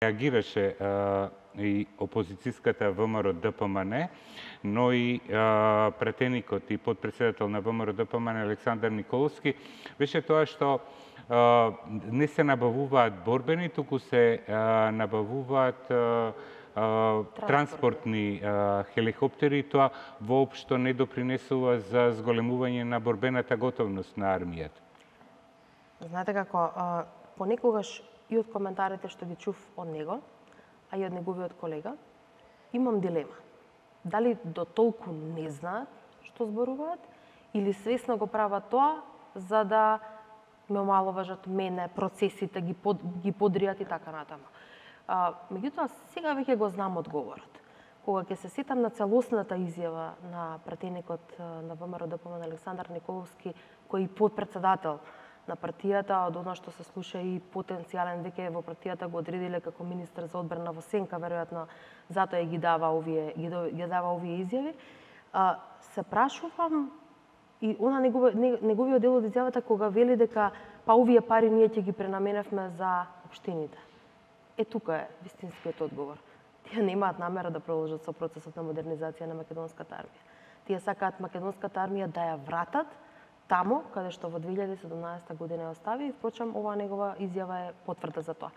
реагираше и опозицијската ВМРО ДПМН, но и пратеникот и потпредседател на ВМРО ДПМН Александар Николовски, беше тоа што не се набавуваат борбени, туку се набавуваат транспортни хеликоптери, и тоа воопшто не допринесува за зголемување на борбената готовност на армијата. Знаете како, понекогаш и од коментарите што ги чув од него, а и од неговиот колега, имам дилема. Дали до толку не знаат што зборуваат, или свесно го прават тоа за да ме омаловажат мене, процесите, ги подријат и така натаму. Меѓутоа, сега веќе го знам одговорот. Кога ќе се сетам на целосната изјава на пратеникот на ВМРО ДПМН Александар Николовски, кој е подпредседател на партијата, од она што се слуша и потенцијален, веќе во партијата го одредиле како министар за одбрана во сенка, веројатно затоа и ги дава овие изјави, се прашувам и она неговиот дел од изјавата кога вели дека па овие пари ние ќе ги пренаменевме за општините. Тука е вистинскиот одговор. Тие немаат намера да продолжат со процесот на модернизација на македонската армија. Тие сакаат македонската армија да ја вратат тамо каде што во 2017 година ја остави, и впрочем оваа негова изјава е потврда за тоа.